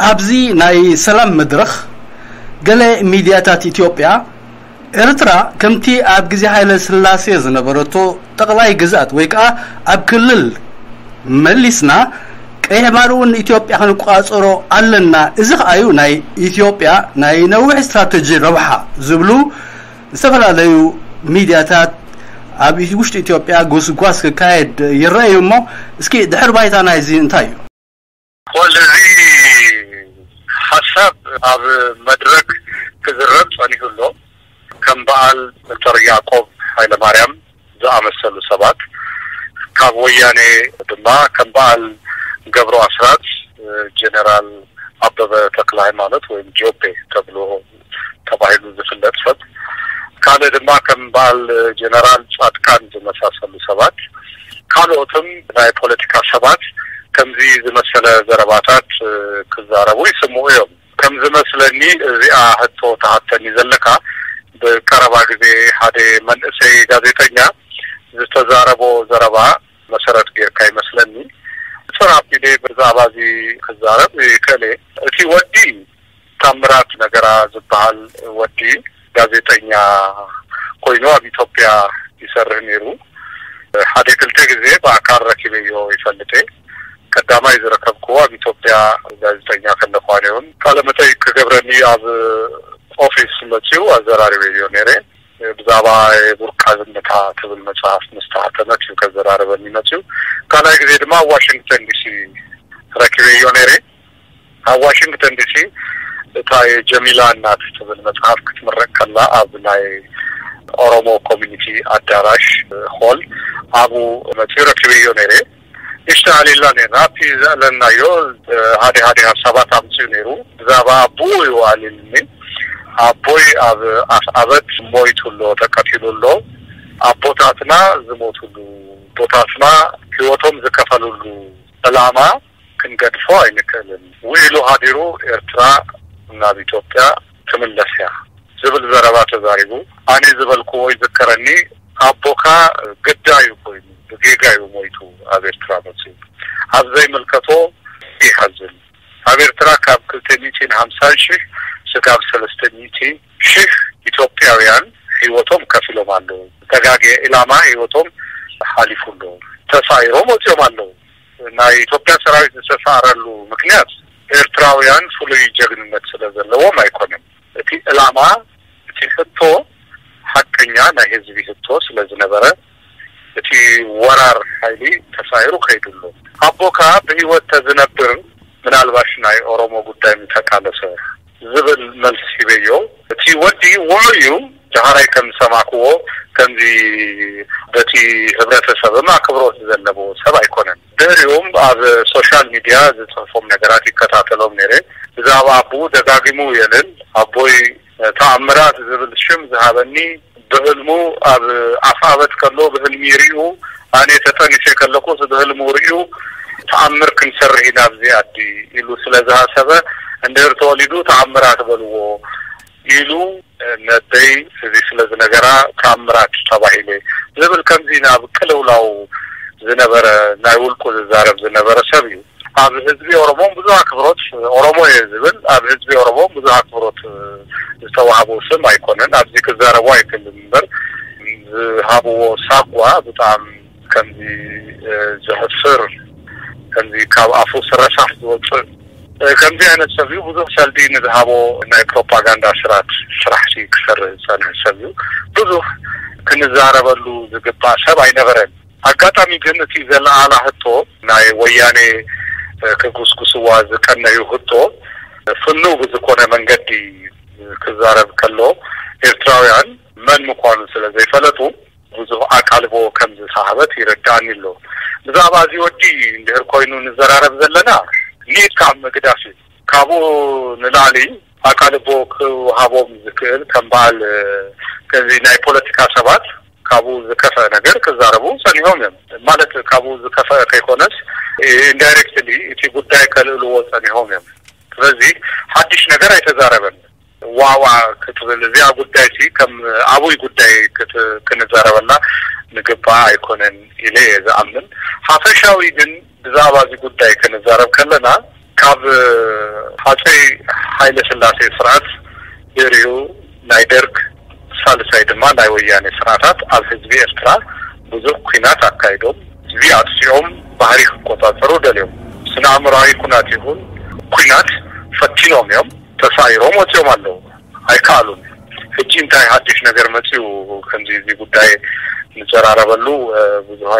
ኣብዚ ናይ ሰላም መድረኽ፣ ገለ ሚድያታት ኢትዮጵያ፣ ኤርትራ ከምቲ ኣብ ግዜ ሃይለ ስላሴ ዝነበረቶ ጠቕላይ ግዝኣት ወይ ከኣ ኣብ ክልል መሊስና፣ ቀይሕ ባሕሪ እውን ኢትዮጵያ ክንቆጻጸሮ ኣለና፣ እዚ ከኣዩ ናይ ኢትዮጵያ ናይ ነዊሕ ስትራተጂ ረብሓ ዝብሉ ዝተፈላለዩ ሚድያታት ኣብ ውሽጢ ኢትዮጵያ ጎስጓስ ክካየድ ይረኣዩ። እሞ እስኪ ድሕር ባይታ ናይዚ እንታይ እዩ? ወል እዚ ሓሳብ ኣብ መድረክ ክዝረብ ጸኒሑ ኣሎ። ከም በዓል ዶክተር ያዕቆብ ሃይለማርያም ዝኣመሰሉ ሰባት፣ ካብ ወያኔ ድማ ከም በዓል ገብሩ ኣስራት፣ ጀነራል ኣበበ ተክለ ሃይማኖት ወይም ጆቤ ተብሎ ተባሂሉ ዝፍለጥ ሰብ፣ ካልእ ድማ ከም በዓል ጀነራል ጻድቃን ዝመሳሰሉ ሰባት፣ ካልኦትም ናይ ፖለቲካ ሰባት ከምዚ ዝመሰለ ዘረባታት ክዛረቡ ይስምዑ እዮም። ከም ዝመስለኒ እዚኣ ሕቶ ተሃተኒ ዘለካ፣ ብቀረባ ግዜ ሓደ መንእሰይ ጋዜጠኛ ዝተዛረቦ ዘረባ መሰረት ጌርካ ይመስለኒ። ጽር ኣቢለ ብዛዕባ እዚ ክዛረብ ይክእል እየ። እቲ ወዲ ታምራት ነገራ ዝበሃል ወዲ ጋዜጠኛ ኮይኑ ኣብ ኢትዮጵያ ይሰርህ ነይሩ። ሓደ ክልተ ግዜ ብኣካል ረኪበዮ ይፈልጥ እየ። ቀዳማይ ዝረከብክዎ ኣብ ኢትዮጵያ ጋዜጠኛ ከለኳ ነይሩን ቃለ መጠይቅ ክገብረኒ ኣብ ኦፊስ መፅኡ ኣዘራሪበዮ ነይረ። ብዛዕባ የቡርቃ ዝምታ ትብል መፅሓፍ ምስ ተሓተመት እዩ ከዘራርበኒ መፅኡ። ካልኣይ ግዜ ድማ ኣብ ዋሽንግተን ዲሲ ረኪበዮ ነይረ። ኣብ ዋሽንግተን ዲሲ እታ የጀሚላ እናት ትብል መፅሓፍ ክትምረቅ ከላ ኣብ ናይ ኦሮሞ ኮሚኒቲ ኣዳራሽ ሆል ኣብኡ መፅኡ ረኪበዮ ነይረ። ይሽተኣሌላ ነርና ኣብቲ ዘእለናዮ ሓደ ሓደ ሓሳባት ኣምፅኡ ነይሩ። ብዛዕባ ኣቦኡ እዩ ኣሊልኒ። ኣቦይ ኣብ ኣፍኣበት ሞይቱ ኣሎ፣ ተቀቲሉ ኣሎ። ኣቦታትና ዝሞትሉ፣ ኣቦታትና ህይወቶም ዝከፈሉሉ ዕላማ ክንገድፎ ኣይንክእልን። ውዒሉ ሃዲሩ ኤርትራ ናብ ኢትዮጵያ ትምለስ እያ ዝብል ዘረባ ተዛሪቡ። ኣነ ዝበልክዎ ይዝከረኒ፣ ኣቦካ ግዳዩ ኮይኑ ብጌጋ እዩ ሞይቱ ኣብ ኤርትራ መፅኡ። ኣብ ዘይምልከቶ ይሓዝን። ኣብ ኤርትራ ካብ ክልተ ሚእትን ሓምሳን ሽሕ ስጋብ ሰለስተ ሚእቲ ሽሕ ኢትዮጵያውያን ህይወቶም ከፊሎም ኣለዉ። ዝተጋግየ ዕላማ ህይወቶም ሓሊፉ ኣሎ። ተሳኢሮም ወፂኦም ኣለዉ። ናይ ኢትዮጵያ ሰራዊት ዝተሳእረሉ ምክንያት ኤርትራውያን ፍሉይ ጀግንነት ስለ ዘለዎም ኣይኮነን። እቲ ዕላማ፣ እቲ ሕቶ ሓቀኛ ናይ ህዝቢ ሕቶ ስለ ዝነበረ እቲ ወራር ሓይሊ ተሳኢሩ ከይዱ ኣሎ። ኣቦካ ብህይወት ተዝነብር ምናልባሽ ናይ ኦሮሞ ጉዳይ ምተቃለሰ ዝብል መልሲ ሂበዮ። እቲ ወዲ ውዑይ እዩ። ዳሕራይ ከም ዝሰማዕክዎ ከምዚ በቲ ህብረተሰብም ኣክብሮት ዘለዎ ሰብ ኣይኮነን። ድሕሪኡም ኣብ ሶሻል ሚድያ ዝፅሕፎም ነገራት ይከታተሎም ነይረ። ብዛዕባ ኣቦኡ ደጋጊሙ የልን። ኣቦይ ተኣምራት ዝብል ሽም ዝሃበኒ ብህልሙ ኣብ ኣፍኣበት ከሎ ብህልሚ ይሪኡ፣ ኣነ ተጠኒሰ ከለኩስ ብህልሙ ሪኡ ተኣምር ክንሰርሕ ኢና ኣብዚ ኣዲ ኢሉ ስለ ዝሃሰበ እንድህር ተወሊዱ ተኣምራት በልዎ ኢሉ ነደይ እዚ ስለ ዝነገራ ተኣምራት ተባሂለ ዝብል ከምዚ ናብ ቅልውላው ዝነበረ ናይ ውልቁ ዝዛረብ ዝነበረ ሰብ እዩ። ኣብ ህዝቢ ኦሮሞ ብዙሕ ኣክብሮት ኦሮሞ እየ ዝብል ኣብ ህዝቢ ኦሮሞ ብዙሕ ኣክብሮት ዝተዋህቦ ስም ኣይኮነን። ኣብዚ ክዛረቦ ኣይክእልን እምበር ዝሃብዎ ሳጓ ብጣዕሚ ከምዚ ዘሕፍር ከምዚ ካብ ኣፉ ስረሳሕ ዝወፅእ ከምዚ ዓይነት ሰብ እዩ። ብዙሕ ሰልዲ ንዝሃቦ ናይ ፕሮፓጋንዳ ስራት ስራሕቲ ክሰርህ ዝፀንሕ ሰብ እዩ። ብዙሕ ክንዛረበሉ ዝግባእ ሰብ ኣይነበረን። ኣጋጣሚ ግን እቲ ዘለዓላ ህቶ ናይ ወያኔ ክጉስጉስዋ ዝቀነዩ ህቶ ፍኑው ብዝኮነ መንገዲ ክዛረብ ከሎ ኤርትራውያን መን ምኳኑ ስለ ዘይፈለጡ ብዙሕ ኣቃልቦ ከም ዝሰሃበት ይረዳኣኒ ኣሎ። ብዛዕባ እዚ ወዲ እንድህር ኮይኑ ንዘራረብ ዘለና ኒድ ካብ ምግዳፍ እዩ። ካብኡ ንላዕሊ ኣቃልቦ ክወሃቦም ዝክእል ከም በዓል ከምዚ ናይ ፖለቲካ ሰባት ካብኡ ዝከፍአ ነገር ክዛረቡ ጸኒሖም እዮም። ማለት ካብኡ ዝከፍአ ከይኮነስ ኢንዳይሬክትሊ እቲ ጉዳይ ከልዕልዎ ጸኒሖም እዮም። ስለዚ ሓድሽ ነገር ኣይተዛረበን። ዋዋ ክትብል እዚኣ ጉዳይ ሲ ከም ዓብይ ጉዳይ ክንዛረበላ ንግባእ ኣይኮነን ኢለ እየ ዝኣምን። ሓፈሻዊ ግን ብዛዕባ እዚ ጉዳይ ክንዛረብ ከለና ካብ ሃፀይ ሃይለ ስላሴ ስርዓት ድሕሪኡ ናይ ደርግ፣ ሳልሳይ ድማ ናይ ወያኔ ስርዓታት ኣብ ህዝቢ ኤርትራ ብዙሕ ኲናት ኣካይዶም፣ ህዝቢ ኣጥፊኦም፣ ባህሪ ክቆጻጸሩ ደልዮም፣ ስነ ኣእምሮኣዊ ኩናት ይኹን ኲናት ፈቲኖም እዮም፣ ተሳኢሮም ወጺኦም ኣለዉ። ኣይከኣሉን። ሕጂ እንታይ ሓድሽ ነገር መጺኡ? ከምዚ እዚ ጉዳይ ንዘራረበሉ ብዙሕ